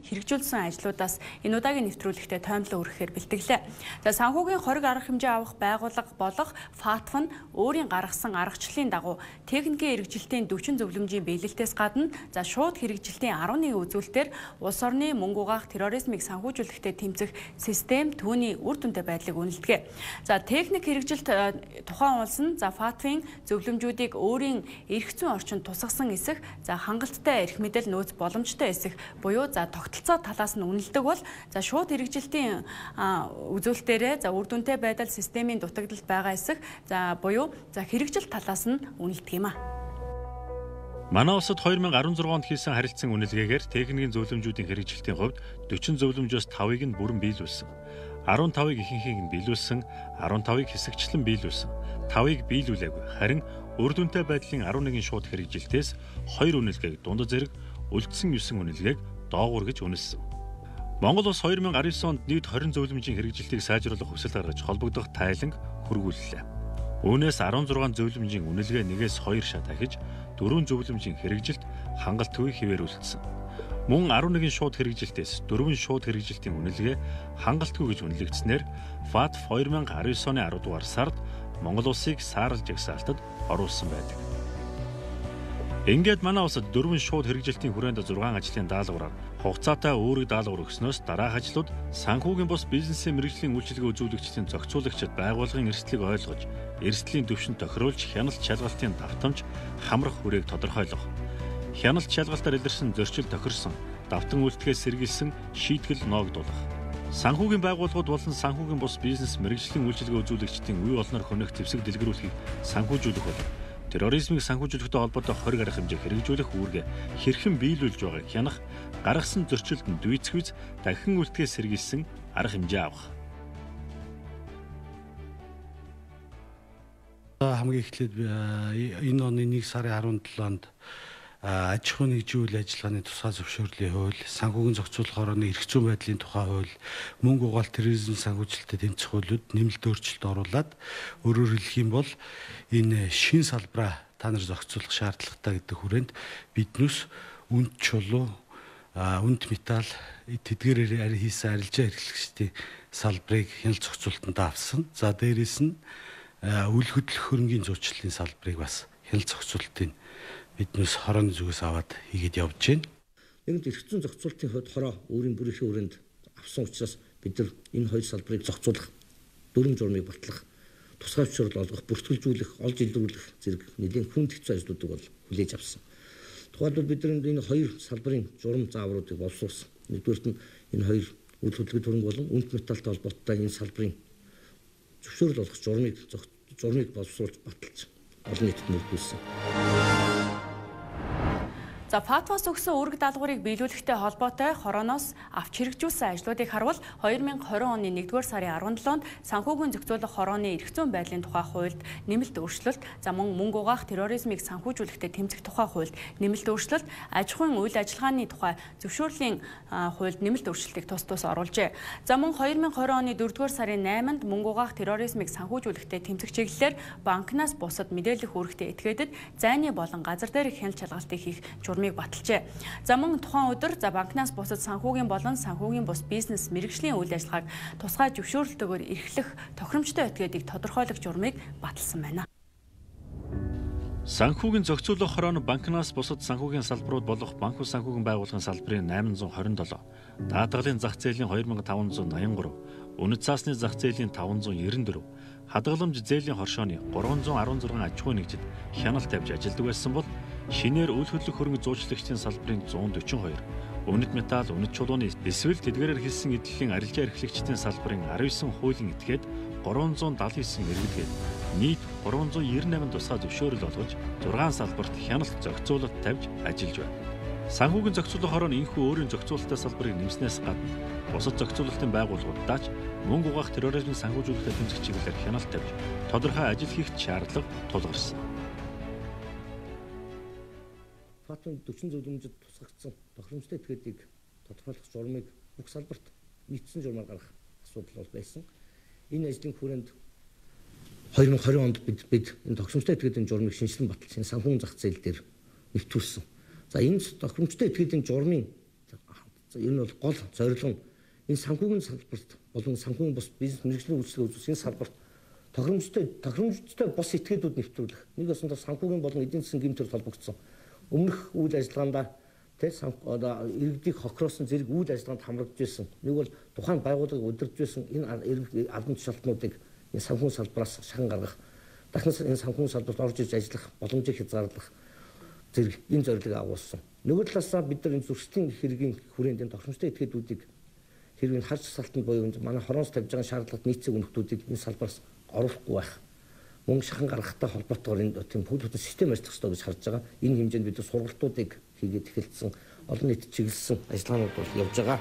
хэрэгжүүлсэн ажлуудаас энэ удаагийн нэвтрүүлэгтээ тоомлон өргөхээр бэлтгэлээ. За санхүүгийн хориг арга хэмжээ авах байгууллага болох ФАТФ нь өөрийн гаргасан аргачлалын дагуу техникийн хэрэгжилтийн 40 зөвлөмжийн биелэлтээс гадна за шууд хэрэгжилтийн 11 үзүүлэлтээр улс орны мөнгө угаах терроризмыг санхүүжүүлэхдээ тэмцэх систем түүний үр дүнтэй байдлыг үнэлдэгэ. За техник хэрэгжилт тухайн улс нь за ФАТФ-ийн зөвлөмжүүдийг өөрийн эрх зүйн орчинд тусгасан эсэх за хангалттай эрх мэдэл нөөц боломжтой эсэх буюу за тогтолцоо талаас нь үнэлдэг бол за шууд хэрэгжилтийн үзүүлэлтээрээ за үр дүнтэй байдал системийн дутагдалд байгаа эсэх за буюу за хэрэгжилт талаас нь үнэлдэг юм а. Манай улсад 2016 онд хийсэн харилцан үнэлгээгээр техникийн зөвлөмжүүдийн хэрэгжилтийн хувьд 40 зөвлөмжөөс 5-ыг нь бүрэн биелүүлсэн. 15-ыг ихэнхийг нь биелүүлсэн, 15-ыг хэсэгчлэн биелүүлсэн, 5-ыг биелүүлээгүй. Харин үр дүнтэй байдлын 11 шууд хэрэгжилтээс 2 үнэлгээг дундад зэрэг үлдсэн 9 үнэлгээг доогуур гэж үнэлсэн. Монгол улс 2019 онд нийт 20 зөвлөмжийн хэрэгжилтийг сайжруулах хүсэл гаргаж холбогдох тайланг хүргүүллээ. Үүнээс 16 зөвлөмжийн үнэлгээ нэгээс 2 шат ахиж 4 зөвлөмжийн хэрэгжилт хангалтгүй хэвээр үлдсэн. Мөн 11 шууд хэрэгжилтээс 4 шууд хэрэгжилтийн үнэлгээ хангалтгүй гэж үнэлэгдснээр ФАТФ 2019 оны 10 дугаар сард Монгол улсыг саарл жагсаалтад оруулсан байдаг. Ингээд манай улсад 4 шууд хэрэгжилтийн хүрээнд 6 ажлын даалгавраар хугацаатай өөрөг даалгавар өгснөөс дараах ажлууд санхүүгийн бус бизнесийн мэргэжлийн үйлчилгээ үзүүлэгчдийн зохицуулагчид байгууллагын эрсдлийг ойлгож, эрсдлийн түвшинд тохируулж хяналт шалгалтын давтамж хамрах хүрээг тодорхойлох. Хяналт шалгалтаар илэрсэн зөрчил тохирсон, давтан үйлдэлээс сэргийлсэн шийтгэл ноогдуулах. Санхүүгийн байгууллагууд болон санхүүгийн бус бизнес мэргэжлийн үйлчилгээ үзүүлэгчдийн үе олноор хөнөх зэвсэг дэлгэрүүлэхийг санхүүжүүлэх бол терроризмыг санхүүжүүлэхтэй холбоотой хориг арга хэмжээ хэрэгжүүлэх үүргээ хэрхэн биелүүлж байгааг хянах, гаргасан зөрчилдөнд дүйцэхүйц дахин үйлдэлээс сэргийлсэн арга хэмжээ авах. Хамгийн эхлээд энэ оны 1 сарын 17-нд аж ахуйн нэгжийн үйл ажиллагааны тусгай зөвшөөрлийн хууль, санхүүгийн зохицуулах хорооны эрх зүйн байдлын тухай хууль, мөнгө угаалт терроризм санхүүжилтэд тэмцэх хуулиуд нэмэлт өөрчлөлт оруулад өөрөөр хэлэх юм бол энэ шин салбараа та нар зохицуулах шаардлагатай гэдэг хүрээнд биднээс үнд чулуу, үнд металл, тэдгээрээр хийсэн арилжаа хэрэглэгчдийн салбарыг хяналт зохицуулалтанд авсан. За дээрээс нь үйл хөдлөх хөрөнгийн зуучлалын салбарыг бас хяналт зохицуулалтын биднээс хорооны зүгээс аваад хийгээд явж байна. Нэгэнт эрх зүйн зохицуулалтын хувьд хороо өөрийн бүрийнхээ өрөөнд авсан учраас бид нар энэ хоёр салбарыг зохицуулах, дүрм журмыг батлах, тусгай зөвшөөрөл олгох, бүртгэлжүүлэх, олж илрүүлэх зэрэг нэлийн хүнд хэцүү ажлуудыг бол хүлээж авсан. Тухайлбал бид нар энэ хоёр салбарын журам заавруудыг боловсруулсан. Нэгдүгээрт нь энэ хоёр үйл хөдлөлт хөрөнгө болон үнэт металлтай холбоотой энэ салбарын зөвшөөрөл олгох журмыг боловсруулж баталж олон нийтэд нөлөөлсөн. За ФАТФ-аас өгсөн үүрэг даалгаврыг биелүүлэхтэй холбоотой хорооноос авч хэрэгжүүлсэн ажлуудыг харвал 2020 оны 1-р сарын 17-нд санхүүгийн зохицуулах хорооны эрх зүйн байдлын тухай хуульд нэмэлт өөрчлөлт, за мөн мөнгө угаах терроризмыг санхүүжүүлэхдээ тэмцэх тухай хуульд нэмэлт өөрчлөлт, аж ахуйн үйл ажиллагааны тухай зөвшөөрлийн хуульд нэмэлт өөрчлөлтийг тус оруулжээ. За мөн 2020 оны 4-р сарын 8-нд мөнгө угаах терроризмыг санхүүжүүлэхдээ тэмцэх чиглэлээр банкнаас бусад мэдээлэх үүрэгтэй этгээдэд зайны болон газар дээрх хяналт шалгалтыг хийх журмыг баталжээ. За мөн тухайн өдөр за банкнаас бусад санхүүгийн болон санхүүгийн бус бизнес мэргэжлийн үйл ажиллагааг тусгай зөвшөөрлөлтөөр эрхлэх тохиромжтой этгээдийг тодорхойлох журмыг баталсан байна. Санхүүгийн зохицуулах хорооно банкнаас бусад санхүүгийн салбарууд болох банк ус санхүүгийн байгууллагын салбарын 827, даатгалын зах зээлийн 2583, үнэт цаасны зах зээлийн 594, хадгаламж зээлийн хоршооны 316 аж ахуйн нэгжид хяналт тавьж ажилладаг байсан бол шинээр үйл хөдлөх хөрөнгө зуучлагчдын салбарын 142, үнэт металл, үнэт чулууны эсвэл тэдгээрээр хийсэн эдлэлийн арилжаа эрхлэгчдийн салбарын 19 хуулийн этгээд 379 иргэдгээд нийт 398 тусгай зөвшөөрөл олгож 6 салбарт хяналт зохицуулалт тавьж ажиллаж байна. Санхүүгийн зохицуулах хорооно энэхүү өөрийн зохицуулалттай салбарыг нэмснээс гадна бусад зохицуулалтын байгууллагуудаач мөнгө угаах терроризмыг санхүүжүүлэхдээ тэмцэх чиглэлээр хяналт тавьж тодорхой ажил хийх шаардлага тулгарсан. ФАТФ-ын 40 зөвлөмжөд тусгагдсан тохиромжтой этгээдийг тодорхойлох журмыг бүх салбарт нийцсэн журмаар гаргах асуудал бол байсан. Энэ ажлын хүрээнд 2020 онд бид энэ тохиромжтой этгээдийн журмыг шинжилэн баталж санхүүгийн зах зээл дээр нэвтрүүлсэн. За энэ тохиромжтой этгээдийн журмын Энэ бол гол зорилго нь энэ санхүүгийн салбарт болон санхүүгийн бус бизнес мэргэжлийн үйлчлэгээ үзүүлэх энэ салбарт тохиромжтой бос этгээдүүд нэвтрүүлэх. Нэг өсөндөө санхүүгийн болон эдийн засгийн гэмтэр холбогдсон. Өмнөх үйл ажиллагаанд иргэдийг хохироосон зэрэг үйл ажиллагаанд хамрагдж байсан. Нэг бол тухайн байгууллагыг удирдах байсан энэ албан тушаалтнуудыг энэ санхүүгийн салбараас шахан гаргах. Дахнаас энэ санхүүгийн салбарт орж иж ажиллах боломжийг хязгаарлах зэрэг энэ зорилгыг агуулсан. Нөгөө талаасаа бид нар энэ зөрчлийн хэргийн хүрээнд энэ тохиромжтой этгээдүүдийг хэрвээ харж салтанд буюу манай хороноос тавьж байгаа шаардлагатай нийцэг өнөختүүдийг энэ салбараас оруулахгүй байх. Мөн шахан гаргахтай холбоотойгоор энэ тийм бүхэл систем ажиллах ёстой гэж харж байгаа. Энэ хэмжээнд бид сургалтуудыг хийгээд эхэлсэн, олон нийтэд чиглэсэн ажиллагаанууд бол явж байгаа.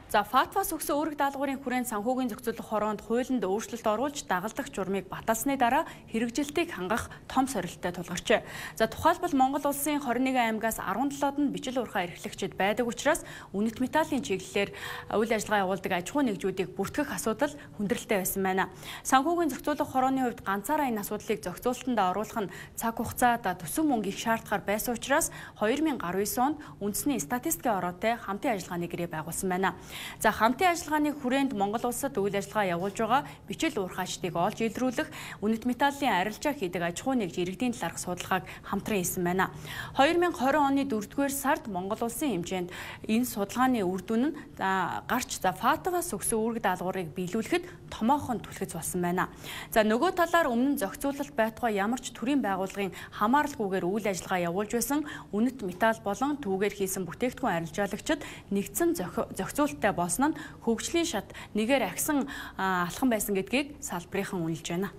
За ФАТФ-аас өгсөн үүрэг даалгаврын хүрээнд санхүүгийн зохицуулах хороонд хуулинд өөрчлөлт оруулж дагалдах журмыг баталсны дараа хэрэгжилтийг хангах том сорилттой тулгарчээ. За тухайлбал Монгол улсын 21 аймагаас 17-д нь бичил урхаа эрхлэгчид байдаг учраас үнэт металлын чиглэлээр үйл ажиллагаа явуулдаг аж ахуй нэгжүүдийг бүртгэх асуудал хүндрэлтэй байсан байна. Санхүүгийн зохицуулах хорооны хувьд ганцаараа энэ асуудлыг зохицуулалтанд оруулах нь цаг хугацаад төсөв мөнгө их шаардахаар байсан учраас 2019 онд үндэсний статистикийн ороотой хамтын ажиллагааны гэрээ байгуулсан байна. За хамтын ажиллагааны хүрээнд Монгол улсад үйл ажиллагаа явуулж байгаа бичил уурхаачдыг олж илрүүлэх үнэт металлын арилжаа хийдэг аж ахуй нэгж иргэдийн талаарх судалгааг хамтран хийсэн байна. 2020 оны 4-р сард Монгол улсын хэмжээнд энэ судалгааны үр дүн нь гарч ФАТФ-аас өгсөн үүрэг даалгаврыг биелүүлэхэд томоохон түлхэц болсон байна. За нөгөө талаар өмнө нь зохицуулалт байтугай ямар ч төрийн байгууллагын хамааралгүйгээр үйл ажиллагаа явуулж байсан үнэт металл болон түүгээр хийсэн бүтээгдэхүүн арилжаалагчид нэгдсэн зохицуулалттай болсон нь хөгжлийн шат нэгээр агсан алхам байсан гэдгийг салбарынхан үнэлж байна.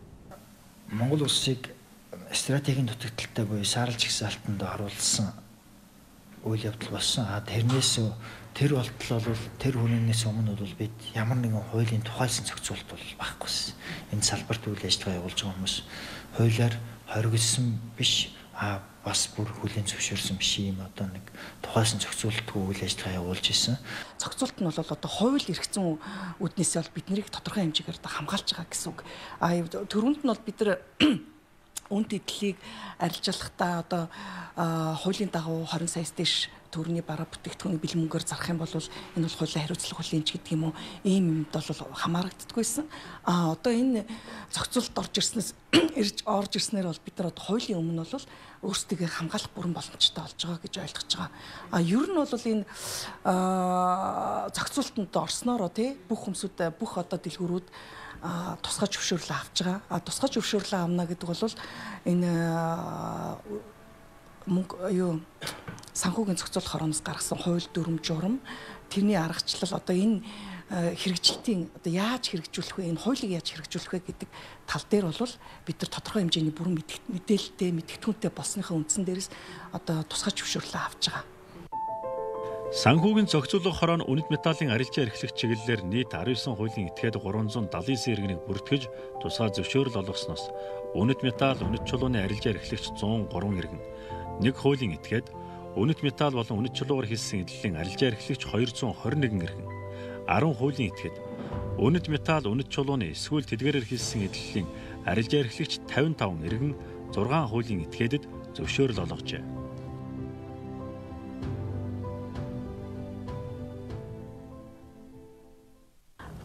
Монгол улсыг стратегийн дутагдaltaй буюу сааралж гисалтанд оруулсан үйл явдал болсон. Тэрнээс тэр болтол бол тэр хүнээс өмнө бол бид ямар нэгэн хуулийн тухайлсан зохицуулалт бол баггүйсэн. Энэ салбарт үйл ажиллагаа явуулж байгаа хүмүүс хуулиар хоригдсон биш бас бүр хүлээн зөвшөөрсөн биш юм одоо нэг тухайлсан зохицуулалтгүй үйл ажиллагаа явуулж исэн. Зохицуулалт нь бол одоо хууль эргэцэн үүднээс бол биднийг тодорхой хэмжээгээр хамгаалж байгаа гэсэн үг. Төрөнд нь бол бид нар үнд эдлийг арилжаалахдаа одоо хуулийн дагуу 20 саяас дээш төгрөгийн бараа бүтээгдэхүүний бэлэн мөнгөөр зарах юм бол энэ бол хуулийн хариуцлага хүлээнч гэдэг юм уу ийм юмд бол хамаарагддаггүйсэн. Одоо энэ зохицуулалт орж ирснээр бол бид нар одоо хуулийн өмнө бол өөрсдөө хамгаалах бүрэн боломжтой болж байгаа гэж ойлгож байгаа. Ер нь бол энэ зохицуулалтанд орсноор тий бүх хүмүүсд бүх одоо дэлгүүрүүд тусгай зөвшөөрлөө авч байгаа. Тусгай зөвшөөрлөө авна гэдэг бол энэ санхүүгийн зохицуулах хорооноос гаргасан хууль дүрм журам тэрний аргачлал одоо энэ хэрэгжилтийн одоо яаж хэрэгжүүлэх вэ энэ хуулийг яаж хэрэгжүүлэх вэ гэдэг тал дээр бол бид нар тодорхой хэмжээний бүрэн мэдээлэлтэй мэдгэдэггүйтэй болсныхаа үндсэн дээрээс одоо тусгай зөвшөөрлөө авч байгаа. Санхүүгийн зохицуулах хороо нь үнэт металлын арилжаа эрхлэх чиглэлээр нийт 19 хуулийн этгээд 379 иргэнийг бүртгэж тусгай зөвшөөрөл олгосноос үнэт металл, үнэт чулууны арилжаа эрхлэгч 103 иргэн, нэг хуулийн этгээд үнэт металл болон үнэт чулуугаар хийсэн эдлэлийн арилжаа эрхлэгч 221 иргэн, 10 хуулийн этгээд үнэт металл, үнэт чулууны эсвэл тэдгээрээр хийсэн эдлэлийн арилжаа эрхлэгч 55 иргэн, 6 хуулийн этгээдэд зөвшөөрөл олгожээ.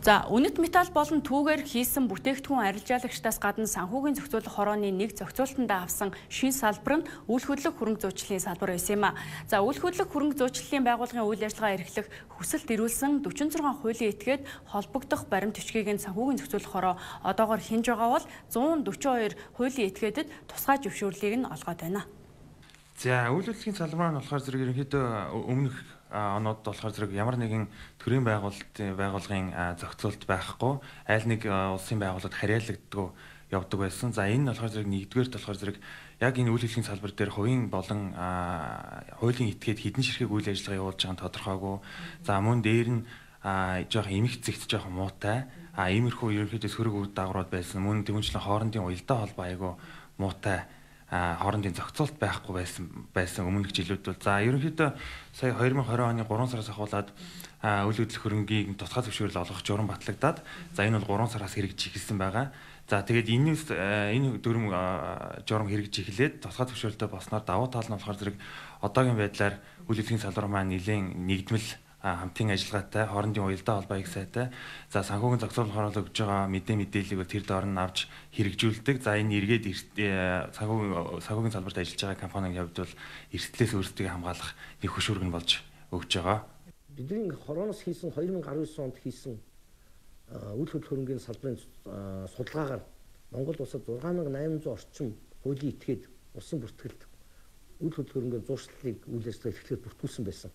За үнэт металл болон түүгээр хийсэн бүтээгдэхүүн арилжаалагчдаас гадна санхүүгийн зохицуулах хорооны нэг зохицуулалтанд авсан шин салбар нь үйл хөдлөх хөрөнгө зүйчлийн салбар байсан юм а. За үйл хөдлөх хөрөнгө зүйчлийн байгууллагын үйл ажиллагаа эрхлэх хүсэлт ирүүлсэн 46 хуулийн этгээд холбогдох баримт бичгийг нь санхүүгийн зохицуулах хороо одоогоор хинж байгаа бол 142 хуулийн этгээдэд тусгай зөвшөөрлийг нь олгоод байна. За үйл хөдлөлийн салбар нь болохоор зэрэг ерөнхийдөө өмнөх оноод болохоор зэрэг ямар нэгэн төрийн байгууллагын зохицуулалт байхгүй аль нэг улсын байгууллагад харьяалагддаг явдаг байсан. За энэ нь болохоор зэрэг нэгдүгээр болохоор зэрэг яг энэ үйл хөдлөлийн салбар дээр хувийн болон хуулийн этгээд хідэн ширхэг үйл ажиллагаа явуулж байгаа нь тодорхойгүй. За мөн дээр нь жоох эмх зэгт жоох муутай. Иймэрхүү ерөнхийдөө сөрөг үр дагаврууд байсан. Мөн тэгмчлэн хоорондын уялдаа холбоо айгүй муутай хоорондын зохицуулт байхгүй байсан өмнөх жилүүд бол за ерөнхийдөө сая 2020 оны 3 сараас ахуулаад үйл хөдлөх хөрөнгийг тусгай зөвшөөрөл олгох журам батлагдаад за энэ бол 3 сараас хэрэгжиж эхэлсэн байгаа. За тэгээд энэ дүрм журам хэрэгжиж эхлээд тусгай зөвшөөрөлтөй болсноор давуу тал нь болохоор зэрэг одоогийн байдлаар үйл хөдлөлийн салбар маань нэлээд нэгдмэл хамтын ажиллагаатай, хоорондын уялдаа холбоо их сайтай. За санхүүгийн зохицуулалт хоороолоо өгж байгаа мэдээллийг бол тэр доор нь авч хэрэгжүүлдэг. За энэ эргээд санхүүгийн салбарт ажиллаж байгаа компанийн хувьд бол эрсдлээс өөрсдөө хамгаалах нэг хөшүүрэг нь болж өгж байгаа. Бидний хорооноос хийсэн 2019 онд хийсэн үйл хөдлөх хөрөнгийн салбарын судалгаагаар Монгол улсад 6800 орчим хуулийн этгээд улсын бүртгэлд үйл хөдлөх хөрөнгийн зуршлыг үйл ажиллагаа эхлэхэд бүртгүүлсэн байсан.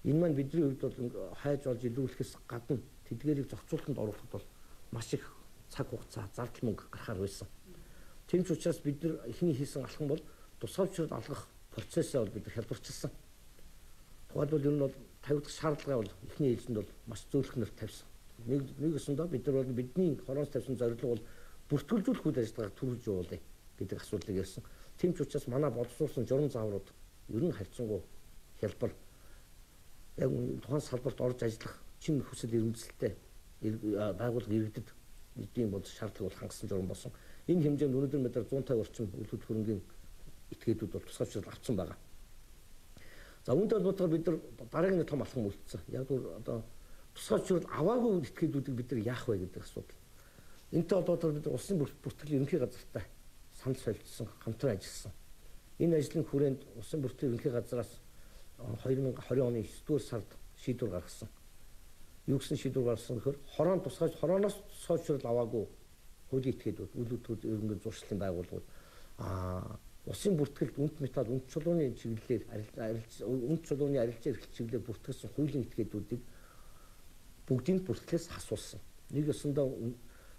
Энэ маань бидний хувьд бол хайж олж илрүүлэхээс гадна тэдгээрийг зохицуулалтанд оруулахад бол маш их цаг хугацаа, зардал мөнгө гарахаар байсан. Тийм ч учраас бид нар эхний хийсэн алхам бол тусгай зөвшөөрөл олгох процессыг бол бид хялбарчилсан. Тухайлбал ер нь бол тавигдах шаардлага бол эхний ээлжинд бол маш зөөлхнөр тавьсан. Нэг өсөндөө бид нар бол бидний хорооноос тавьсан зорилго бол бүртгэлжүүлэх үйл ажиллагааг төрүүлж явуулъя гэдэг асуудлыг ярьсан. Тийм ч учраас манай боловсруулсан журам зааврууд ер нь харьцангуй хялбар яг тухайн салбарт орж ажиллах чин хүсэл эрмэлзэлтэй байгууллага иргэдэд бидний бол шаардлага бол хангасан журам болсон. Энэ хэмжээнд өнөөдөр мэдэр 150 орчим үйл хөдлөх хөрөнгийн этгээдүүд бол тусгай зөвшөөрөл авсан байгаа. За үүнтэй холбоотойгоор бид нар дараагийн том алхам үлдсэн. Яг одоо тусгай зөвшөөрөл аваагүй этгээдүүдийг бид нар яах вэ гэдэг асуудал. Энэтэй холбоотойгоор бид нар улсын бүртгэл ерөнхий газартай санал солилцсон, хамтран ажилласан. Энэ ажлын хүрээнд улсын бүртгэл ерөнхий газраас 2020 оны 9-р сард шийдвэр гаргасан. Юу гэсэн шийдвэр гаргасан гэхээр хорооноос тусгай зөвшөөрөл аваагүй хуулийн этгээдүүд, үйл хөдлөх хөрөнгийн зуршлын байгууллагууд улсын бүртгэлд үнэт металл, үнэт чулууны чиглэлээр үнэт чулууны арилжаа эрхлэл чиглэлээр бүртгэсэн хуулийн этгээдүүдийг бүгдийг бүртгэлээс хасуулсан. Нэг өсөндөө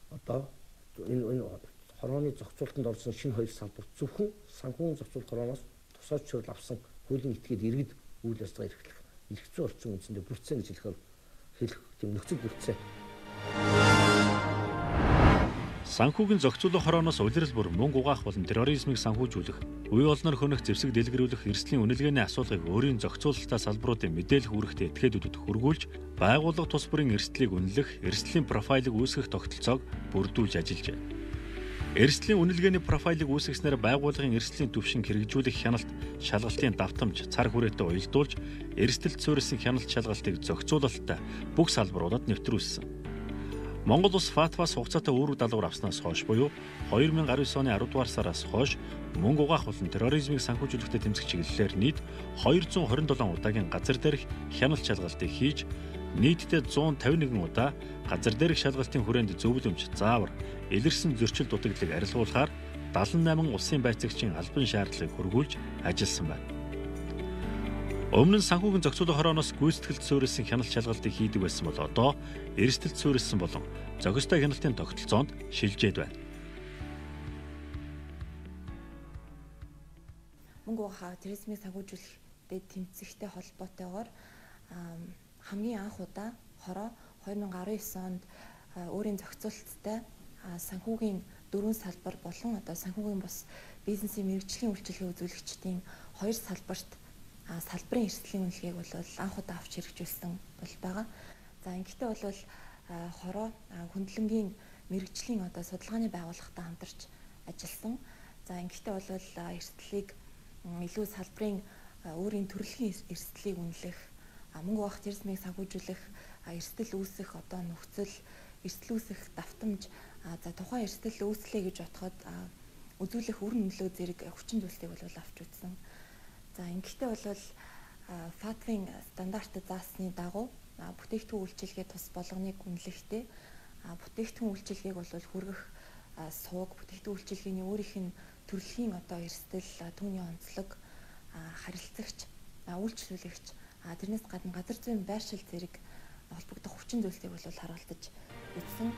одоо энэ хорооны зохицуулалтанд орсон шинэ хоёр салбар зөвхөн санхүүгийн зохицуулалт хорооноос тусгай зөвшөөрөл авсан хуулийн этгээд иргэд үйл ажиллагаа эрхлэх эрх зүйн орчин үндсэндээ бүрдсэн гэж хэлэх тийм нөхцөл бүрдсэн. Санхүүгийн зохицуулах хорооноос улирал бүр мөнгө угаах болон терроризмыг санхүүжүүлэх, үе олноор хөнөх зэвсэг дэлгэрүүлэх эрсдлийн үнэлгээний асуулгыг өөрийн зохицуулалтаа салбаруудын мэдээлэх үүрэгтэй этгээдүүдэд хөргүүлж, байгууллага тус бүрийн эрсдлийг үнэлэх, эрсдлийн профайлыг үүсгэх тогтолцоог бүрдүүлж ажиллажээ. Эрсдлийн үнэлгээний профайлыг үүсгэснээр байгууллагын эрсдлийн түвшин хэрэгжүүлэх хяналт, шалгалтын давтамж, цар хүрээтэй уялдуулж, эрсдэлд суурилсан хяналт шалгалтыг зохицуулалттай бүх салбаруудад нэвтрүүлсэн. Монгол улс ФАТФ-аас хугацаатай үүрэг даалгавар авснаас хойш буюу 2019 оны 10 дугаар сараас хойш мөнгө угаах болон терроризмыг санхүүжүүлэхтэй тэмцэх чиглэлээр нийт 227 удаагийн газар дээрх хяналт шалгалтыг хийж, нийтдээ 151 удаа газар дээрх шалгалтын хүрээнд зөвлөмж, заавар, илэрсэн зөрчил дутагдлыг арилгуулахаар 78 улсын байцаагчийн албан шаардлагыг хөргүүлж ажилласан байна. Өмнө нь санхүүгийн зохицуулах хорооноос гүйцэтгэлд суурилсан хяналт шалгалтыг хийдэг байсан бол одоо эрсдэлд суурилсан болон зохистой хяналтын тогтолцоонд шилжээд байна. Мөнгө угаах терроризмыг санхүүжүүлэхтэй тэмцэхтэй холбоотойгоор хамгийн анх удаа хороо 2019 онд өөрийн зохицуулалттай санхүүгийн дөрвөн салбар болон одоо санхүүгийн бус бизнесийн мэргэжлийн үйлчилгээ үзүүлэгчдийн хоёр салбарт салбарын эрсдлийн үнэлгээг бол анх удаа авч хэрэгжүүлсэн бол байгаа. За ингэхдээ бол хороо хөндлөнгийн мэргэжлийн одоо судалгааны байгууллагатай хамтарч ажилласан. За ингэхдээ бол эрсдлийг илүү салбарын өөрийн төрөлхийн эрсдлийг үнэлэх, мөнгө угаах терроризмыг санхүүжүүлэх, эрсдэл үүсэх одоо нөхцөл, эрсдэл үүсэх давтамж, за тухайн эрсдэл үүслэе гэж бодоход үзүүлэх үр нөлөө зэрэг хүчин зүйлсийг бол авч үзсэн. За ингэхдээ бол ФАТФ-ийн стандартад заасны дагуу бүтээгдэхүүн үйлчилгээ тус болгоныг үнэлэхдээ бүтээгдэхүүн үйлчилгээг бол хүргэх сууг, бүтээгдэхүүн үйлчилгээний өөрийнх нь төрөлхийн одоо эрсдэл, түүний онцлог, харилцагч, үйлчлүүлэгч, тэрнээс гадна газар зүйн байршил зэрэг холбогдох хүчин зүйлсийг бол харуулж үзсэн.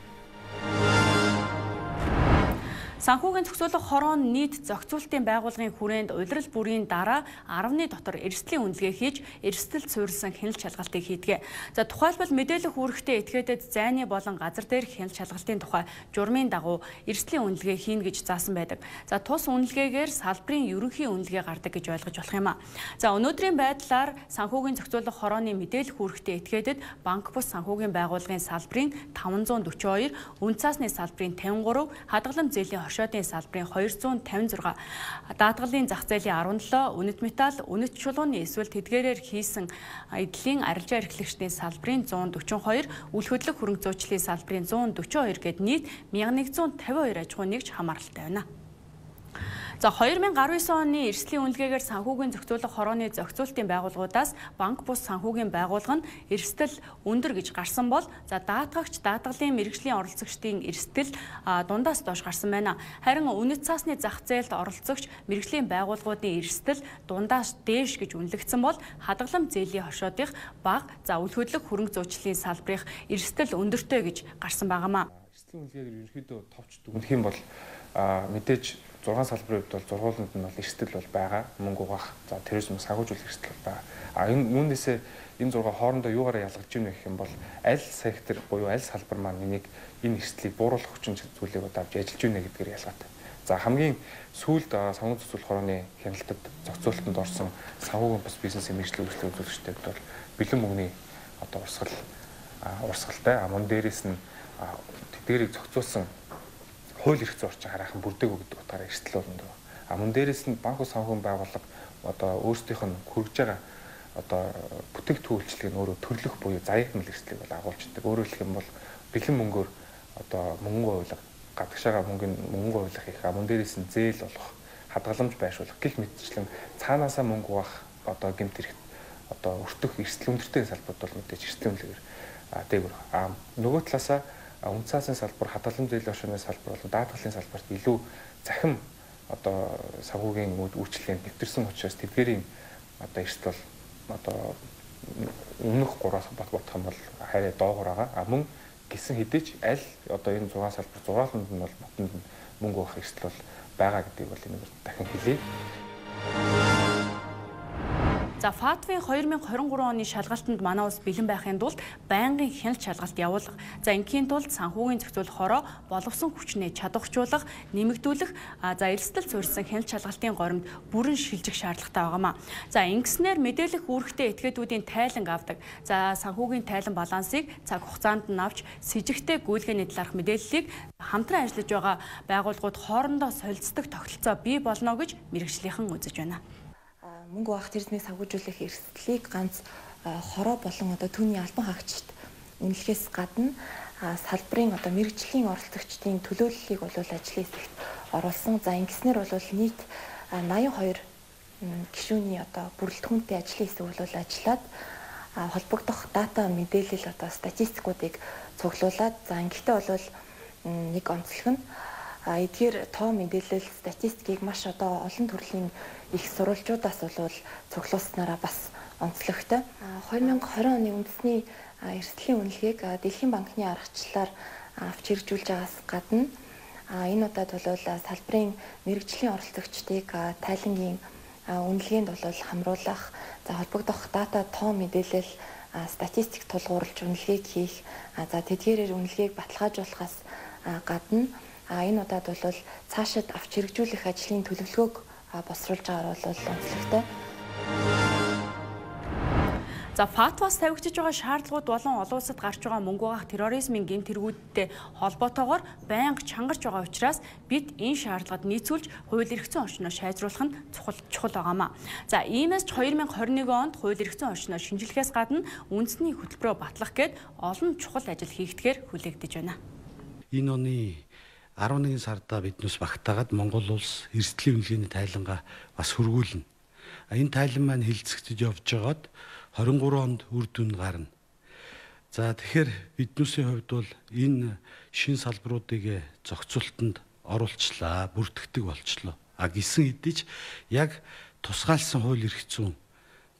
Санхүүгийн зохицуулах хорон нийт зохицуулалтын байгууллагын хүрээнд улирал бүрийн дараа 10-ны дотор эрсдлийн үнэлгээ хийж, эрсдэлд суурилсан хяналт шалгалтыг хийдэг. За тухайлбал мэдээлэх үүрэгтэй этгээдэд зайны болон газар дээрх хяналт шалгалтын тухай журмын дагуу эрсдлийн үнэлгээ хийн гэж заасан байдаг. За тус үнэлгээгээр салбарын ерөнхий үнэлгээ гардаг гэж ойлгож болох юм а. За өнөөдрийн байдлаар санхүүгийн зохицуулах хорооны мэдээлэх үүрэгтэй этгээдэд банк бус санхүүгийн байгууллагын салбарын 542, үн цаасны салбарын 53, хадгалам зээлийн оршоодын салбарын 256, даатгалын зах зээлийн 17, үнэт металл, үнэт чулууны эсвэл тэдгээрээр хийсэн эдлийн арилжаа эрхлэгчдийн салбарын 142, үл хөдлөх хөрөнгө зүйчлийн салбарын 142 гээд нийт 1152 аж ахуй нэгж хамааралтай байна. За 2019 оны эрсдлийн үнэлгээгээр санхүүгийн зохицуулах хорооны зохицуулалтын байгууллагуудаас банк бус санхүүгийн байгууллага нь эрсдэл өндөр гэж гарсан бол за даатгагч даатгалын мэргэжлийн оролцогчдын эрсдэл дундаас доош гарсан байна. Харин үнэт цаасны зах зээлд оролцогч мэргэжлийн байгууллагуудын эрсдэл дундаас дээш гэж үнэлэгдсэн бол хадгалам зээлийн хошоодынх бага за үл хөдлөх хөрөнгө зүйчлийн салбарынх эрсдэл өндөртэй гэж гарсан байнамаа. Эрсдлийн үнэлгээгээр ерөнхийдөө товч дүгнэх юм бол мэдээж 6 салбарын хувьд бол зургууланд нь бол эрсдэл бол байгаа. Мөнгө угаах, за терроризм санхүүжүүлэх эрсдэл бол байгаа. Үүнээсээ энэ 6 хоорондоо юугаараа ялгаж ийнэ гэх юм бол аль сектор буюу аль салбар маань энийг энэ эрсдлийг бууруулах хүчин зүйлийг удавж ажиллаж ийнэ гэдгээр ялгаатай. За хамгийн сүүлд санхүү зохицуулах хорооны хяналтад зохицуулалтанд орсон санхүүгийн бас бизнесийн мэргэжлийн үйлчлэг үзүүлэгчдэд бол бэлэн мөнгөний урсгалтай мөн дээрээс нь тэдгэрийг зохицуулсан хууль эрх зүйн орчин хараахан бүрдээгүй гэдэг утгаараа эрсдэл болно. Мөн дээрээс нь банк санхүүгийн байгууллага өөрсдийнх нь хүргэж байгаа бүтээгдэхүүн үйлчлэгийг өөрөө төрлөх буюу заяатмал эрсдлийг бол агуулждаг. Өөрөөр хэлэх юм бол бэлэн мөнгөөр мөнгө хуулах, гадагшаага мөнгө хуулах их мөн дээрээс нь зээл олох, хадгаламж байршуулах гэх мэтчлэн цаанаасаа мөнгө угаах гэмт хэрэгт өртөх эрсдэл өндөртэй салбарууд бол мэдээж эрсдлийн үнэлгээгээр дээгүүр. Нөгөө талаасаа үн цаасын салбар, хадгалам зээлийн оршооны салбар болон даатгалын салбарт илүү захим санхүүгийн үйлчлэгэнд нэвтэрсэн учраас тэдгээрийн эрсдэл бол өмнөх 3-аас бодох юм бол хайраа доогуур байгаа. Мөн гисэн хэдий ч аль энэ 6 салбар зурааланд нь бол ботонд мөнгө авах эрсдэл бол байгаа гэдгийг бол энэ дахин хэлье. За ФАТВ-ийн 2023 оны шалгалтанд манай улс бэлэн байхын тулд байнгын хяналт шалгалт явуулах. За ингийн тулд санхүүгийн зохицуулах хороо боловсон хүчнээ чадварчуулах, нэмэгдүүлэх, за эрсдэл суурьсан хяналт шалгалтын горимд бүрэн шилжих шаардлагатай байгаамаа. За ингэснээр мэдээлэх үүрэгтэй этгээдүүдийн тайланг авдаг. За санхүүгийн тайлан балансыг цаг хугацаанд нь авч сэжигтэй гүйлгээний талаарх мэдээллийг хамтран ажиллаж байгаа байгууллагууд хоорондоо солилцдог тогтолцоо бий болно гэж мэргэжлийнхэн үзэж байна. Мөнгө угаах терроризмыг санхүүжүүлэх эрсдлийг ганц хороо болон түүний албан хаагчид үнэлэхээс гадна салбарын мэргэжлийн оролцогчдын төлөөллийг бол ажлын хэсэгт оруулсан. За ингэснээр бол нийт 82 гишүүний бүрэлдэхүүнтэй ажлын хэсэг бол ажиллаад холбогдох дата мэдээлэл статистикуудыг цуглуулад за ингэхдээ бол нэг онцлог нь эдгээр тоо мэдээлэл статистикийг маш олон төрлийн их сурвалжуудаас бол цуглуулснараа бас онцлогтой. 2020 оны үндэсний эрсдлийн үнэлгээг Дэлхийн банкны аргачлалаар авч хэрэгжүүлж байгаас гадна энэ удаад бол салбарын мэргэжлийн оролцогчдыг тайлангийн үнэлгээнд бол хамруулах, за холбогдох дата тоо мэдээлэл статистик тулгуурлаж үнэлгээг хийх, за тэдгээрээр үнэлгээг баталгаажуулахаас гадна энэ удаад бол цаашид авч хэрэгжүүлэх ажлын төлөвлөгөөг босруулж байгаагаар бол онцлогтой. За ФАТВ-аас тавигдж байгаа шаардлагууд болон олон улсад гарч байгаа мөнгө угаах терроризмын гэмт хэрэгүүдтэй холбоотойгоор байнга чангарч байгаа учраас бид энэ шаардлагад нийцүүлж хууль эрх зүйн орчноо шайжруулах нь чухал байгаамаа. За иймээс ч 2021 онд хууль эрх зүйн орчноо шинжилгэхээс гадна үндэсний хөтөлбөрөөр батлах гээд олон чухал ажил хийгдэхээр хүлээгдэж байна. Энэ оны 11 сарда биднээс багтаагаад Монгол улс эрсдлийн үнэлгээний тайлангаа бас хөргүүлнэ. Энэ тайлан маань хилцэгдэж явж байгаад 23 онд үр дүн гарна. За тэгэхээр биднээсийн хувьд бол энэ шин салбаруудыг зохицуулалтанд оруулчлаа, бүртгэдэг болчлоо. Гисэн хэдий ч яг тусгаалсан хууль эрх зүйн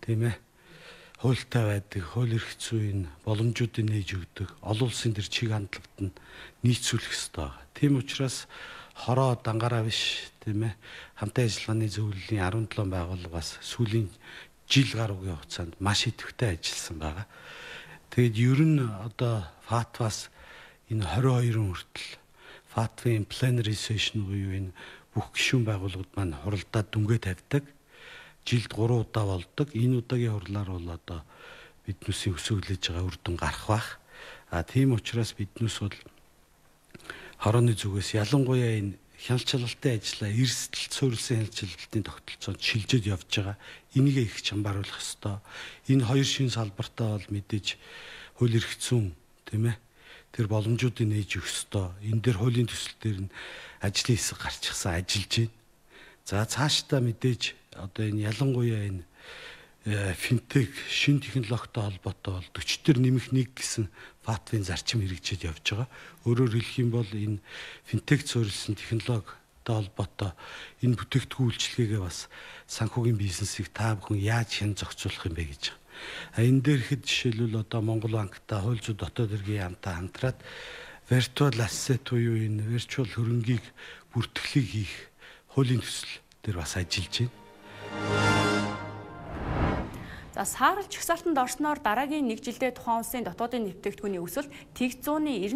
тийм ээ хуультай байдаг, хууль эрх зүйн боломжуудыг нээж өгдөг, олон улсын төр чиг хандлагад нь нийцүүлэх ёстой. Тийм учраас хороо дангаараа биш тийм ээ хамтын ажиллагааны зөвлөлийн 17 байгууллага бас сүүлийн жил гаруйгийн хугацаанд маш идэвхтэй ажилласан байгаа. Тэгээд ер нь одоо ФАТВ-аас энэ 22 хүртэл ФАТВ-ийн plenary session буюу энэ бүх гишүүн байгууллагууд маань хуралдаад дүнгээ тавьдаг. Жилд 3 удаа болдог. Энэ удаагийн хурлаар бол одоо биднүүсийн өсөглөж байгаа үр дүн гарах бах. Тийм учраас биднүүс бол хорооны зүгээс ялангуяа энэ хяналтчилалтын ажлаа эрсдэлт суурилсан хяналтчилалтын тогтолцоонд шилжиж явж байгаа. Энийг их чамбааруулах ёстой. Энэ хоёр шин салбартаа бол мэдээж хууль эрх зүйн тийм ээ тэр боломжуудыг нээж өгөх ёстой. Энэ дээр хуулийн төсөл дээр нь ажлын хэсэг гарчихсан ажиллаж байна. За цаашдаа мэдээж одоо энэ ялангуяа энэ финтек шин технологитой холбоотой бол 40-төр нэмэх 1 гэсэн ФАТВ-ийн зарчим хэрэгжиж явж байгаа. Өөрөөр хэлэх юм бол энэ финтек суурилсан технологитой холбоотой энэ бүтээгдэхүүн үйлчилгээгээ бас санхүүгийн бизнесийг та бүхэн яаж хэн зохицуулах юм бэ гэж байгаа. Энэ дээр ихэд жишээлбэл одоо Монгол банктай хууль зүйн дотоод хэргийн яамтай хамтраад virtual asset буюу энэ virtual хөрөнгийг бүртгэлийг хийх хуулийн төсөл дээр бас ажиллаж байна. За саарл чагсаалтанд орсноор дараагийн 1 жилдээ тухайн улсын дотоодын нэвтрэгдэхүүний өсөлт тэг 198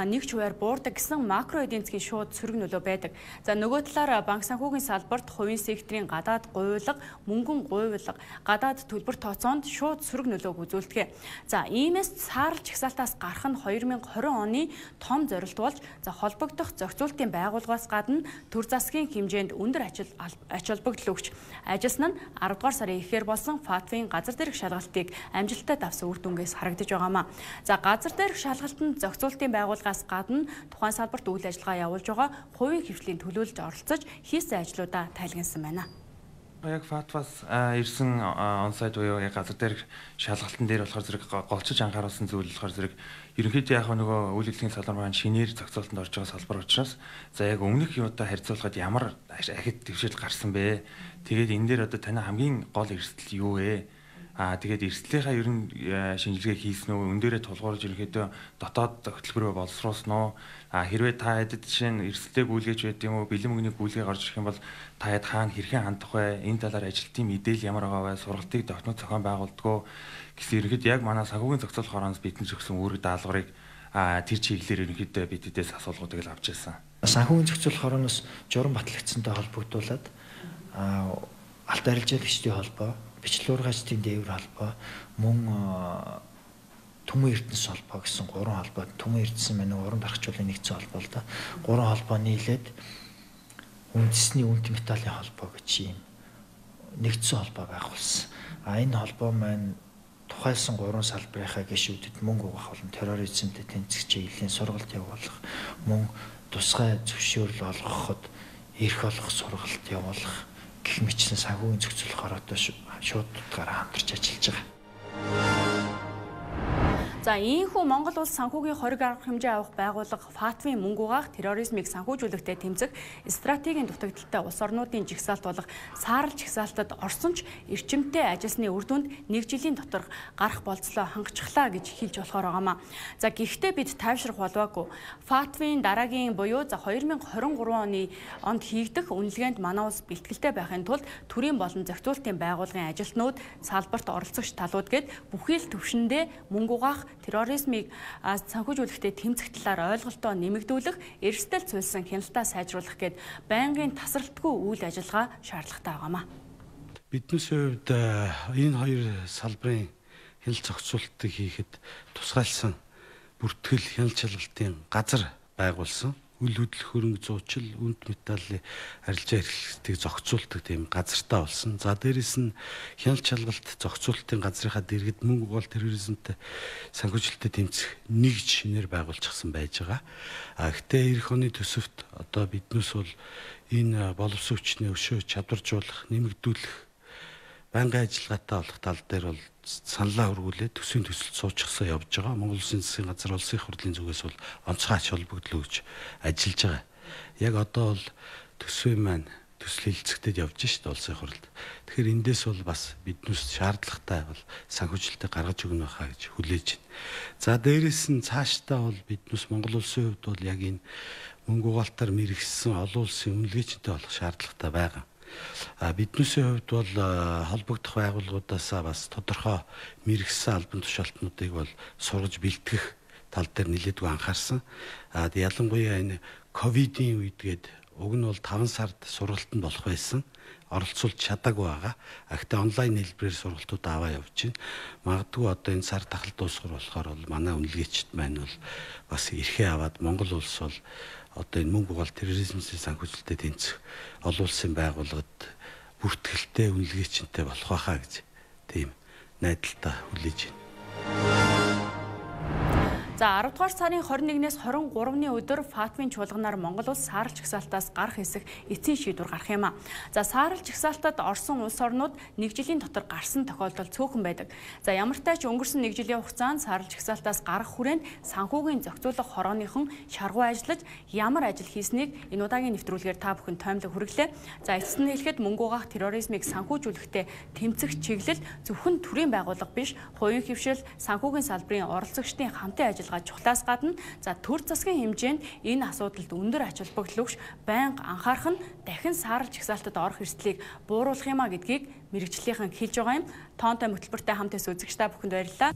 нэг хувиар буурдаг гэсэн макро эдийн засгийн шууд сөрөг нөлөө байдаг. За нөгөө талаар банк санхүүгийн салбарт хувийн секторын гадаад гуйлга, мөнгөн гуйлга, гадаад төлбөр тооцоонд шууд сөрөг нөлөөг үзүүлдэг. За иймээс саарл чагсаалтаас гарах нь 2020 оны том зорилт болж холбогдох зохицуултын байгууллагаас гадна төр засгийн хэмжээнд өндөр ач холбогдол өгч ажилласан нь 10 дугаар сарын эхээр болсон ФАТВ-ийн газар дээрх шалгалтыг амжилттай давсан үр дүнгээс харагдаж байгаамаа. За газар дээрх шалгалтанд зохицуултын байгууллагаас гадна тухайн салбарт үйл ажиллагаа явуулж байгаа хувийн хвшлийн төлөөлж оролцож хийсэн ажлуудаа тайлгансан байна. Яг ФАТВ-аас ирсэн онсайд буюу яг газар дээрх шалгалтын дээр болохоор зэрэг голчиж анхааруулсан зүйл болохоор зэрэг ерөнхийдөө яг нөгөө үйл ажиллагааны салбар маань шинээр зохицуултанд орж байгаа салбар учраас за яг өмнөх юутай харьцуулахад ямар ахид дэвшил гарсан бэ? Тэгээд энэ дээр одоо таны хамгийн гол эрсдэл юу вэ? Тэгээд эрсдлийнхаа ер нь шинжилгээ хийсэн үү? Өн дээрээ тулгуурлаж ерөнхийдөө дотоод хөтөлбөрөө боловсруулсан уу? Хэрвээ та хэд жишээ нь эрсдэлтэй гүйлгэж байд юм уу? Бэлэн мөнгөний гүйлгээ гарч ирэх юм бол та хэд хаана хэрхэн хандах вэ? Энэ талаар ажилтны мэдээлэл ямар байгаа вэ? Сургалтыг тогтнох зохион байгуулдаг уу? Гэсэн ерөнхийдөө яг манай санхүүгийн зохицуулах хороноос бидний өгсөн үүрэг даалгаврыг тэр чиглэлээр ерөнхийдөө бидээс асуулгуудыг л авч ирсэн. Санхүүгийн зохицуулах хороноос журам батлагдсантай холбогдуулаад алт арилжаалагчдын холбоо, бичлэг ургаачдын дээвэр холбоо, мөн Түмэн Эрдэнэс холбоо гэсэн 3 холбоо, Түмэн Эрдэнэс маань уран дарахчлалын нэгдсэн холбоо л да. 3 холбоо нийлээд үндэсний үнэт металлын холбоо гэж юм нэгдсэн холбоо байгуулсан. Энэ холбоо маань тухайлсан 3 салбарынхаа гишүүдэд мөнгө угаах болон терроризмтэй тэнцэх чиглэлийн сургалт явуулах, мөн тусгай зөвшөөрөл олгоход эрх олох сургалт явуулах гэх мэтчлэн санхүүгийн зохицуулах хороотой шууд утгаараа хамтарч ажиллаж байгаа. За ийхүү Монгол улс санхүүгийн хориг арга хэмжээ авах байгууллага ФАТВ-ийн мөнгө угаах, терроризмыг санхүүжүүлэхтэй тэмцэх стратегийн дутагдaltaй улс орнуудын жигсаалт болох саарл жигсаалтад орсон ч эрчимтэй ажилласны үр дүнд 1 жилийн дотор гарах болцлоо хангачглаа гэж хэлж болохоор байгаамаа. За гэхдээ бид тайвшрах болоогүй. ФАТВ-ийн дараагийн буюу 2023 онд хийгдэх үнэлгээнд манай улс бэлтгэлтэй байхын тулд төрийн болон зохицуултын байгууллагын ажилтнууд, салбарт оролцогч талууд гээд бүхий л төвшөндөө мөнгө угаах, терроризмыг санхүүжүүлэхтэй тэмцэх талаар ойлголтоо нэмэгдүүлэх, эрсдэл цуйлсан хяналтаа сайжруулах гээд байнгын тасралтгүй үйл ажиллагаа шаардлагатай байгаамаа. Биднээс хувьд энэ хоёр салбарын хяналт зохицуултыг хийхэд тусгайлсан бүртгэл хяналт шалгалтын газар байгуулсан. Үйл хөдлөх хөрөнгө зуучил, үнэт металлын арилжаа эрхлэлтийг зохицуулдаг тийм газартаа болсон. За дээрэс нь хяналт шалгалт зохицуултын газрынхаа дэргэд мөнгө угаал терроризмтэй санхүүжилттэй тэмцэх нэгж шинээр байгуулчихсан байж байгаа. Гэхдээ эх оны төсөвт одоо биднээс бол энэ боловсон хүчний өшөө чадваржуулах, нэмэгдүүлэх, байнгын ажиллагаатай болох тал дээр бол саналаа хөргүүлээд төсвийн төсөлд суучихсан явж байгаа. Монгол Улсын засгийн газар улсын их хурлын зүгээс бол онцгой ач холбогдол өгч ажиллаж байгаа. Яг одоо бол төсвийн маань төсөл хэлцэгдэд явж шít улсын их хурлд. Тэгэхээр эндээс бол бас биднээс шаардлагатай бол санхүүжилтийг гаргаж өгнө байхаа гэж хүлээж байна. За дээрэс нь цаашдаа бол биднээс Монгол Улсын хувьд бол яг энэ мөнгө угаалтаар мэрэгсэн олон улсын үнэлгээчтэй болох шаардлагатай байгаа. Биднээсээ хувьд бол холбогдох байгууллагуудаас бас тодорхой мэрэгсэн албан тушаалтнуудыг бол сургаж бэлтгэх тал дээр нэлээдгүй анхаарсан. Ялангуяа энэ ковидын үед уг нь бол 5 сард сургалтанд болох байсан. Оролцуулж чадаагүй байгаа. Гэхдээ онлайн хэлбэрээр сургалтууд аваа явж байна. Магадгүй одоо энэ сар тахал дуусгар болохоор бол манай үнэлгээчд маань бол бас эрхээ аваад Монгол улс бол одоо энэ мөнгө угаалт терроризмын санхүүжилтэд тэнцэх олон улсын байгууллагад бүртгэлтэй үнэлгээчтэй болох байхаа гэж тийм найдалтаа хүлээж байна. За 10 дугаар сарын 21-ээс 23-ны өдөр Фатмын чуулганаар Монгол улс саарал жагсаалтаас гарах хэсэг эцсийн шийдвэр гарах юм а. За саарал жагсаалтад орсон улс орнууд 1 жилийн дотор гарсан тохиолдол цөөхөн байдаг. За ямар ч тач өнгөрсөн 1 жилийн хугацаанд саарал жагсаалтаас гарах хүрээнд санхүүгийн зохицуулах хорооныхон шаргуу ажиллаж ямар ажил хийснийг энэ удаагийн нэвтрүүлгээр та бүхэн тоомлог хүргэлээ. За эцэст нь хэлэхэд мөнгө угаах терроризмыг санхүүжүүлэхдээ тэмцэх чиглэл зөвхөн төрийн байгууллага биш, хувийн хөвшил, санхүүгийн салбарын оролцогчдын хамтын ажил чухлаас гадна за төр засгийн хэмжээнд энэ асуудалд өндөр ач холбогдол өгч байнга анхаарах нь дахин саарал жагсаалтад орох эрсдлийг бууруулах юм а гэдгийг мэрэгчлийнхэн хэлж байгаа юм. Тоонтой хөтөлбөртэй хамт үзэгч та бүхэнд баярлалаа.